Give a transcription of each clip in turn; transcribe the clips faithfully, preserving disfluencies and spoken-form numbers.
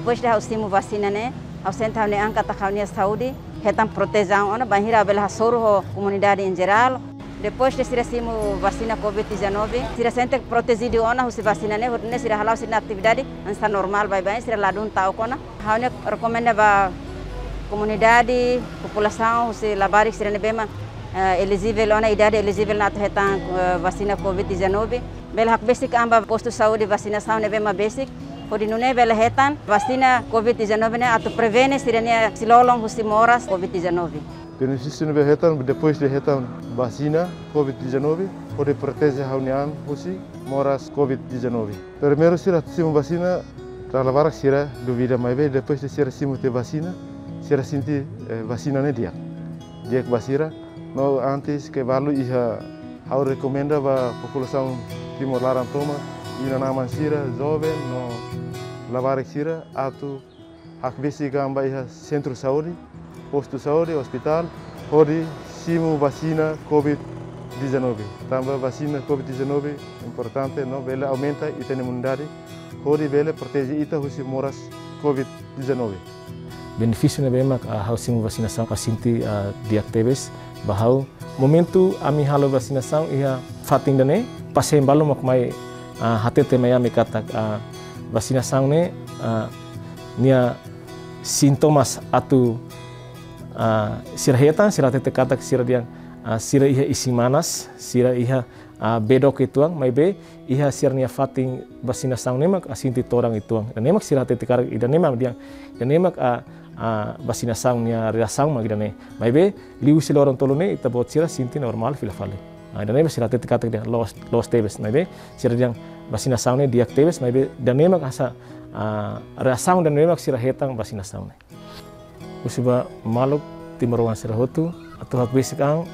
Depois de ha'u simu vasina ne'e, ha'u sente ha'u-nia an katak ha'u-nia saúde hetan protesaun ona, bainhira bele hasoru ho komunidade em geral. Depois de sira simu vasina covid dezanove, sira sente protejidu ona husi vasina ne'e, hodi nune'e sira hala'o sira-nia atividade hanesan normál baibain, sira ladún ta'uk ona. Ha'u-nia rekomenda ba komunidade, populasaun, husi labarik sira ne'ebé mak, eh, elijivel ona, idade elijivel ona atu hetan, eh, vasina covid dezanove. Bele hakbesik an ba postu saúde vasinasaun ne'ebé mak besik, hodi nune'e bele hetan vasina covid dezanove ne'e atu prevene sira-nia isin-lolon husi moras covid dezanove. Benefísiu ne'ebé hetan depois de hetan vasina covid dezanove, hodi proteje ha'u-nia an husi moras covid dezanove. Primeiru sira simu vasina, dala barak sira duvida, maibé depois de sira simu tiha vasina, sira sente, eh, vasina ne'e di'ak. Di'ak ba sira, no antes ke balu iha ha'u rekomenda ba populasaun Timor laran tomak, inan-aman sira, joven, no labarik sira, atu hakbesik an ba iha sentru saúde, postu saúde, ospitál, hodi simu vasina covid dezanove. Tanba vasina covid dezanove importante, no bele aumenta ita-nia imunidade, hodi bele proteje ita husi moras covid dezanove. Benefísiu ne'ebé mak, ah, ha'u simu vasinasaun, ha'u sente, ah, di'ak tebes ba ha'u. Momentu ami halo vasinasaun iha fatin ida-ne'e, pasiente balu mak mai, ah, hatete mai ami katak, ah, vasinasaun ne'e, ah, nia sintomas atu, ah, sira hetan, sira hatete katak sira dehan, ah, sira iha isin-manas, sira iha, ah, bedok uitoan, maibé iha sira-nia fatin vasinasaun ne'e mak, ah, sente todan uitoan. Ida-ne'e mak sira hatete katak, ida-ne'e mak dehan, ida-ne'e mak, ah, ah, vasinasaun nia reasaun mak ida-ne'e. Maibé liu husi loron tolu ne'e, ita-boot sira sente normál fila fali. Ah, ida-ne'e mak sira hatete katak dehan loos, loos tebes. Maibé sira dehan vasinasaun ne'e di'ak tebes, maibé ida-ne'e mak hanesan, ah, reasaun ida-ne'e mak sira hetan vasinasaun ne'e. Husu ba maluk timoroan sira hotu atu hakbesik an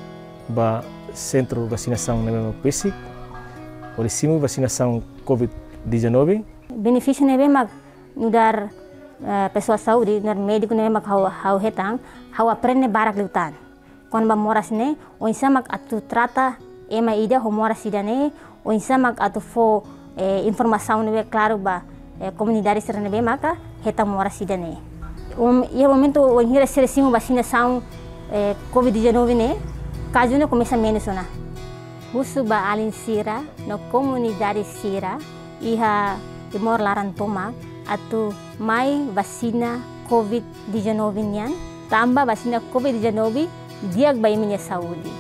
ba sentru vasinasaun ne'ebé mak besik, hodi simu vasinasaun covid dezanove. Benefísiu ne'ebé mak nu'udar, eh, pesoál saúde, nu'udar médiku ne'ebé mak ha'u, ha'u hetan, ha'u aprende barak liután. Kona-ba moras ne'e, oinsá mak atu trata ema ida ho moras ida-ne'e, oinsá mak atu fó, eh, informasaun ne'ebé klaru ba, eh, komunidade sira ne'ebé maka hetan moras ida-ne'e. Um, iha momentu wainhira sira simu vasinasaun, eh, covid dezanove ne'e, kazu ne'e komesa menus ona. Husu ba alin sira no komunidade sira iha Timor laran tomak atu mai vasina covid dezanove nian, tanba vasina covid dezanove di'ak ba imi-nia saúde.